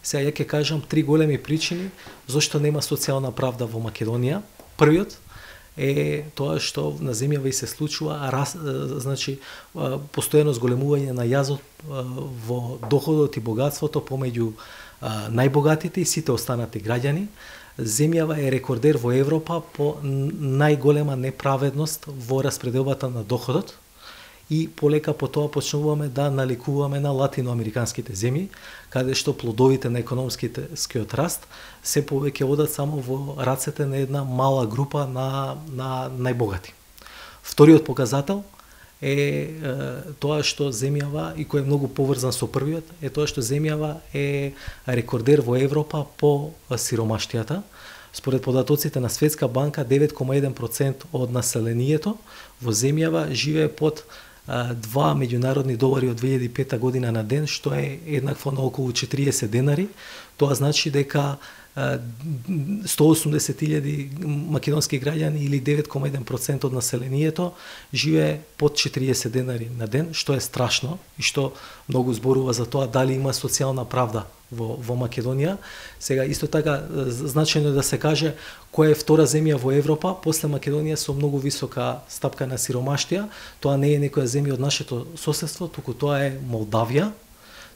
Сега ја ќе кажам три големи причини зашто нема социјална правда во Македонија. Првиот е тоа што на земјава и се случува значи постојано зголемување на јазот во доходот и богатството помеѓу најбогатите и сите останати граѓани. Земјава е рекордер во Европа по најголема неправедност во распределбата на доходот и полека по тоа почнуваме да наликуваме на латиноамериканските земји, каде што плодовите на економскиот раст се повеќе одат само во рацете на една мала група на најбогати. Вториот показател е тоа што земјава, и кој е многу поврзан со првиот, е тоа што земјава е рекордер во Европа по сиромаштијата. Според податоците на Светска банка, 9,1% од населението во земјава живее под 2 меѓународни долари од 2005 година на ден, што е еднакво на околу 40 денари. Тоа значи дека 180.000 македонски граѓани или 9,1% од населението живее под 40 денари на ден, што е страшно и што многу зборува за тоа дали има социјална правда во Македонија. Сега исто така значајно е да се каже која е втора земја во Европа после Македонија со многу висока стапка на сиромаштија. Тоа не е некоја земја од нашето соседство, туку тоа е Молдавија.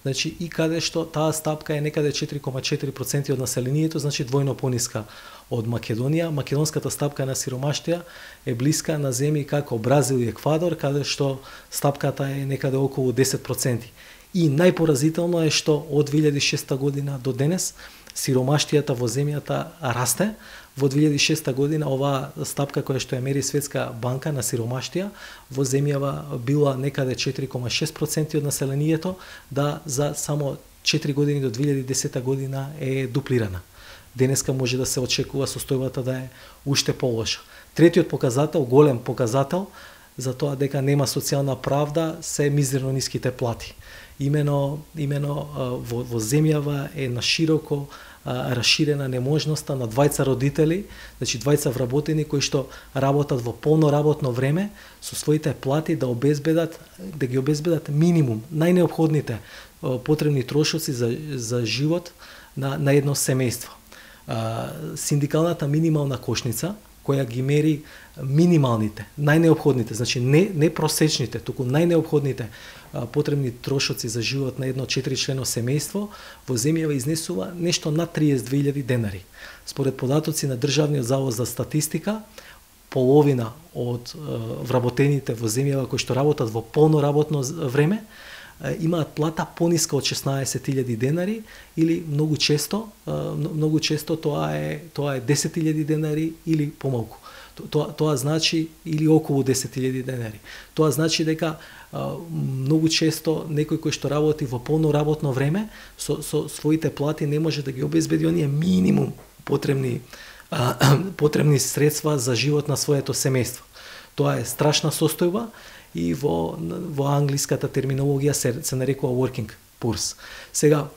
Значи и каде што таа стапка е некаде 4,4% од населението, значи двојно пониска од Македонија. Македонската стапка на сиромаштија е блиска на земји како Бразил и Еквадор, каде што стапката е некаде околу 10%. И најпоразително е што од 2006 година до денес сиромаштијата во земјата расте. Во 2006 година оваа стапка која што ја мери Светска банка на сиромаштија во земјава била некаде 4,6% од населението, да за само 4 години до 2010 година е дуплирана. Денеска може да се очекува состојбата да е уште полоша. Третиот показател, голем показател за тоа дека нема социјална правда се мизерно ниските плати. Имено во земјава е на широко расширена неможноста на двајца родители, значи двајца вработени кои што работат во полно работно време со своите плати да ги обезбедат минимум, најнеопходните потребни трошоци за живот на едно семејство. Синдикалната минимална кошница која ги мери минималните, најнеопходните, значи не просечните, туку најнеопходните потребни трошоци за живот на едно 4-члено семејство во земјава изнесува нешто над 32.000 денари. Според податоци на Државниот завод за статистика, половина од вработените во земјава кои што работат во полно работно време имаат плата пониска од 16.000 денари или многу често тоа е 10.000 денари или помалку. Тоа значи или околу 10.000 денари. Тоа значи дека многу често некој кој што работи во полно работно време со своите плати не може да ги обезбеди оние минимум потребни средства за живот на своето семејство. Тоа е страшна состојба и во англиската терминологија се нарекува working poors. Сега,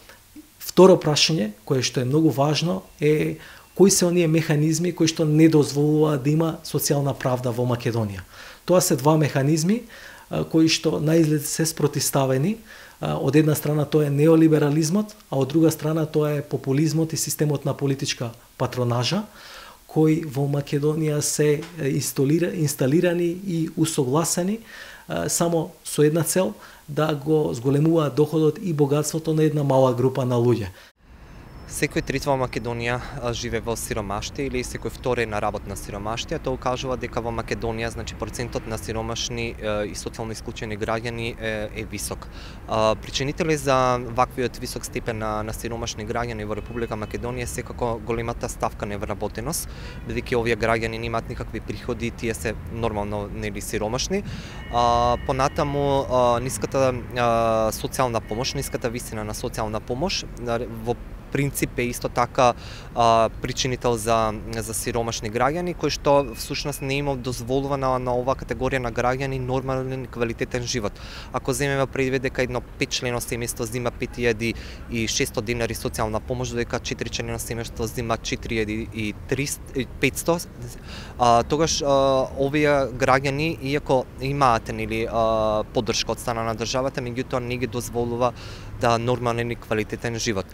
второ прашање кое што е многу важно е кои се оние механизми кои што не дозволуваат да има социјална правда во Македонија. Тоа се два механизми кои што наизглед се спротивставени. Од една страна тоа е неолиберализмот, а од друга страна тоа е популизмот и системот на политичка патронажа, кои во Македонија се инсталирани и усогласени само со една цел да го зголемуваат доходот и богатството на една мала група на луѓе. Секој трети во Македонија живее во сиромаштија или секој втори на работна сиромаштија. Тоа укажува дека во Македонија, значи, процентот на сиромашни и социјално исклучени граѓани е висок. Причинители за ваквиот висок степен на сиромашни граѓани во Република Македонија е секако големата ставка невработеност, бидејќи овие граѓани немаат никакви приходи, тие се нормално нели сиромашни. Понатаму ниската социјална помош, ниската висина на социјална помош во принцип е исто така причинител за сиромашни граѓани, кои што всушност не има дозволувана на оваа категорија на граѓани нормален квалитетен живот. Ако земеме предвид дека едно 5-члено семејство зима 5.600 денари социјална помош, додека 4-члено семејство зима 4.500, тогаш овие граѓани, иако имаат нели поддршка од страна на државата, меѓутоа не ги дозволува да нормален и квалитетен живот.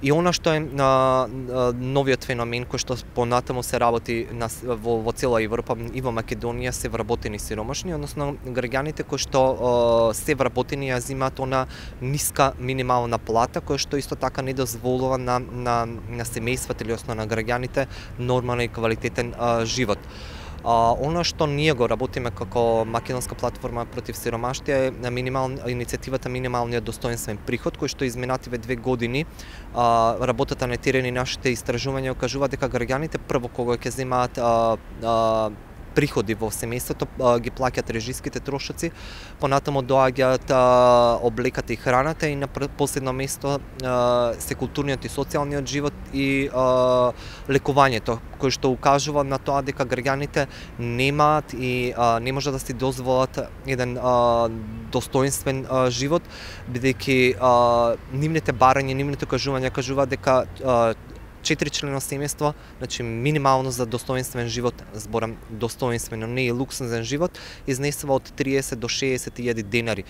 И она што е новиот феномен кој што понатаму се работи во цела Европа и во Македонија се вработени сиромашни, односно граѓаните кои што се вработени ја земаат она ниска минимална плата која што исто така не дозволува на семејствата или основно на граѓаните нормален и квалитетен живот. Она што ние го работиме како македонска платформа против сиромаштија е иницијативата минималниот достоинствен приход, кој што изминативе 2 години работата на терен и нашите истражувања кажуваат дека граѓаните прво кога ќе земаат приходи во семејството ги плаќаат режиските трошоци, понатаму доаѓаат облеката и храната и на последно место се културниот и социјалниот живот и лекувањето, кој што укажува на тоа дека граѓаните немаат и не може да си дозволат еден достоинствен живот, бидејќи нивните барања, нивните кажуваат дека 4-члено семејство, значи минимално за достоинствен живот, зборам достоинствено, не и луксузен живот, изнесува од 30 до 60.000 денари.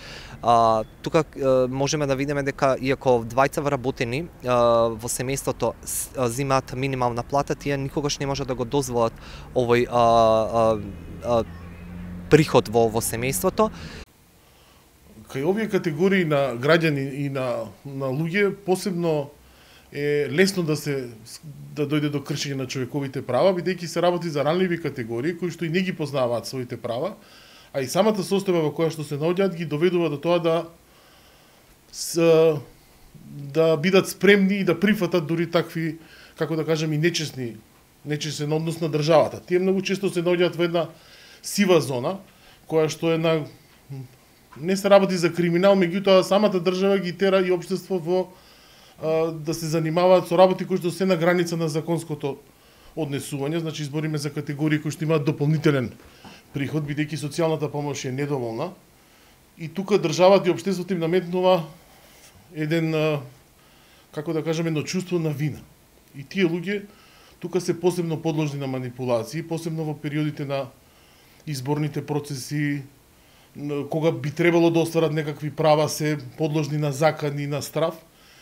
Тука можеме да видиме дека иако двајца вработени во семејството земаат минимална плата, тие никогаш не може да го дозволат овој приход во семејството. Кај овие категории на граѓани и на луѓе посебно е лесно да дојде до кршење на човековите права, бидејќи се работи за ранливи категории кои што и не ги познаваат своите права, а и самата состојба во која што се наоѓаат ги доведува до тоа да бидат спремни и да прифатат дури такви, како да кажем, и нечестен однос на државата. Тие многу често се наоѓаат во една сива зона, која што не се работи за криминал, меѓутоа самата држава ги тера и општество да се занимаваат со работи кои што се на граница на законското однесување, значи збориме за категории кои што имаат дополнителен приход, бидејќи социјалната помош е недоволна. И тука државата и општеството им наметнува еден, како да кажеме, едно чувство на вина. И тие луѓе тука се посебно подложни на манипулации, посебно во периодите на изборните процеси, кога би требало да остварат некакви права, се подложни на закани, на страв.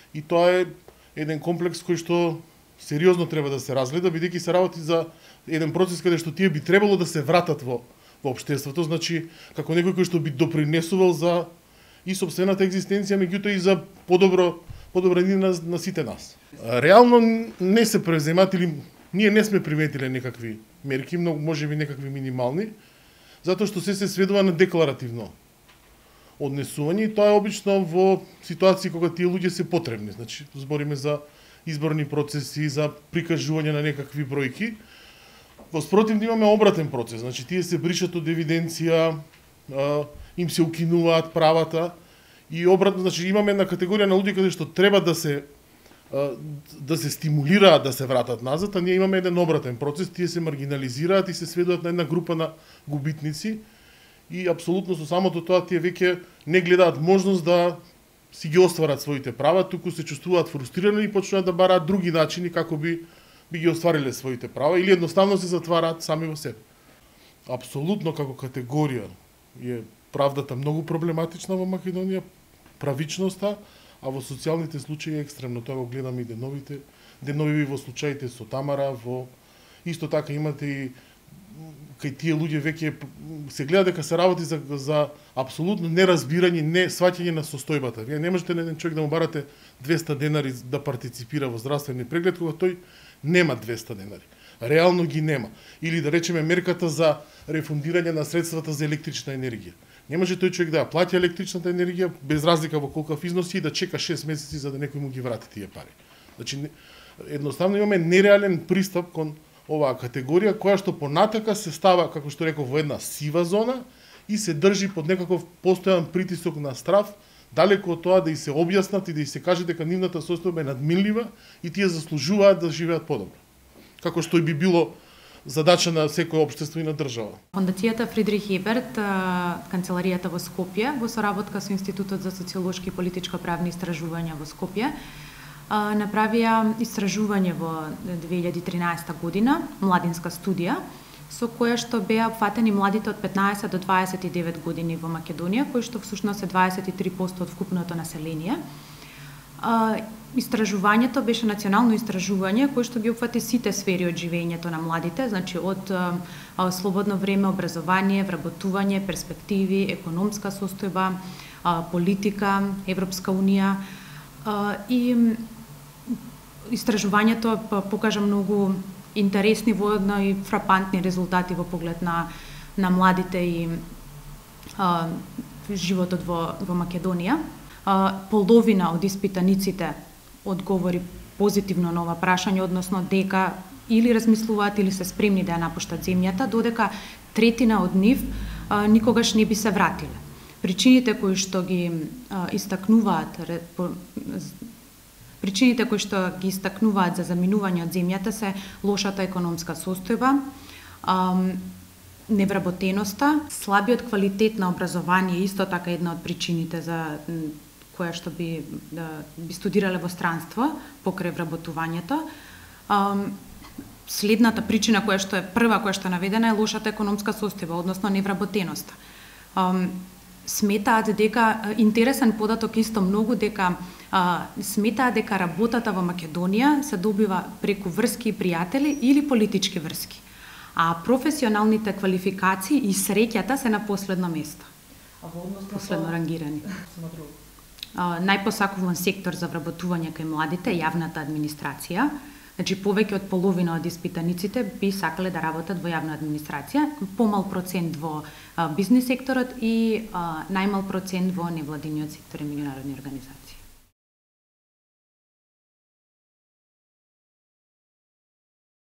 И тоа е еден комплекс кој што сериозно треба да се разгледа, бидејќи се работи за еден процес каде што тие би требало да се вратат во општеството, значи како некој кој што би допринесувал за и сопствената екзистенција, меѓутоа и за подобрение на сите нас. Реално не се преземат или ние не сме приметиле некакви мерки, многу можеби некакви минимални, затоа што се сведува на декларативно однесување и тоа е обично во ситуации кога тие луѓе се потребни. Значи, збориме за изборни процеси, за прикажување на некакви бројки. Во спротивно имаме обратен процес. Значи, тие се бришат од евиденција, им се укинуваат правата и обратно, значи имаме една категорија на луѓе каде што треба да се стимулираат да се вратат назад, а ние имаме еден обратен процес, тие се маргинализираат и се сведуваат на една група на губитници. И апсолутно со самото тоа тие веќе не гледаат можност да си ги остварат своите права, туку се чувствуваат фрустрирани и почнуваат да бараат други начини како би ги оствариле своите права или едноставно се затвараат сами во себе. Апсолутно како категорија е правдата многу проблематична во Македонија, правичноста, а во социјалните случаи е екстремно. Тоа го гледаме и денови во случаите со Тамара, исто така имате и кај тие луѓе веќе се гледа дека се работи за апсолутно неразбирање, не сваќање на состојбата. Вие не можете на еден човек да му барате 200 денари да партиципира во здравствени преглед кога тој нема 200 денари. Реално ги нема. Или да речеме мерката за рефундирање на средствата за електрична енергија. Не може тој човек да ја плати електричната енергија без разлика во колкав износи и да чека 6 месеци за да некој му ги врати тие пари. Значи едноставно имаме нереален пристап кон оваа категорија која што понатака се става, како што реков, во една сива зона и се држи под некаков постојан притисок на страв, далеку од тоа да и се објаснат и да и се каже дека нивната состојба е надминлива и тие заслужуваат да живеат подобро. Како што и би било задача на секој општество и на држава. Фондацијата Фридрих Еберт, канцеларијата во Скопје, во соработка со Институтот за социолошки и политичко-правни истражувања во Скопје, направија истражување во 2013 година, младинска студија, со која што беа опфатени младите од 15 до 29 години во Македонија, кои што всушност е 23% од вкупното население. Истражувањето беше национално истражување кое што ги опфати сите сфери од живењето на младите, значи од слободно време, образование, вработување, перспективи, економска состојба, политика, Европска унија и истражувањето покажа многу интересни воедно и фрапантни резултати во поглед на младите и животот во Македонија. Половина од испитаниците одговори позитивно на ова прашање, односно дека или размислуваат или се спремни да ја напуштат земјата, додека третина од нив никогаш не би се вратиле. Причините кои што ги истакнуваат за заминување од земјата се лошата економска состојба, невработеноста, слабиот квалитет на образование, исто така една од причините за која што би студирале во странство покрај вработувањето. Следната причина која што е прва која што е наведена е лошата економска состојба, односно невработеноста. Сметаат дека интересен податок исто многу дека сметаат дека работата во Македонија се добива преку врски и пријатели или политички врски, а професионалните квалификации и среќата се на последно место. Последно рангирани. Најпосакуван сектор за вработување кај младите е јавната администрација. Значи, повеќе од половина од испитаниците би сакале да работат во јавна администрација, помал процент во бизнис секторот и најмал процент во невладиниот сектор и меѓународни организации.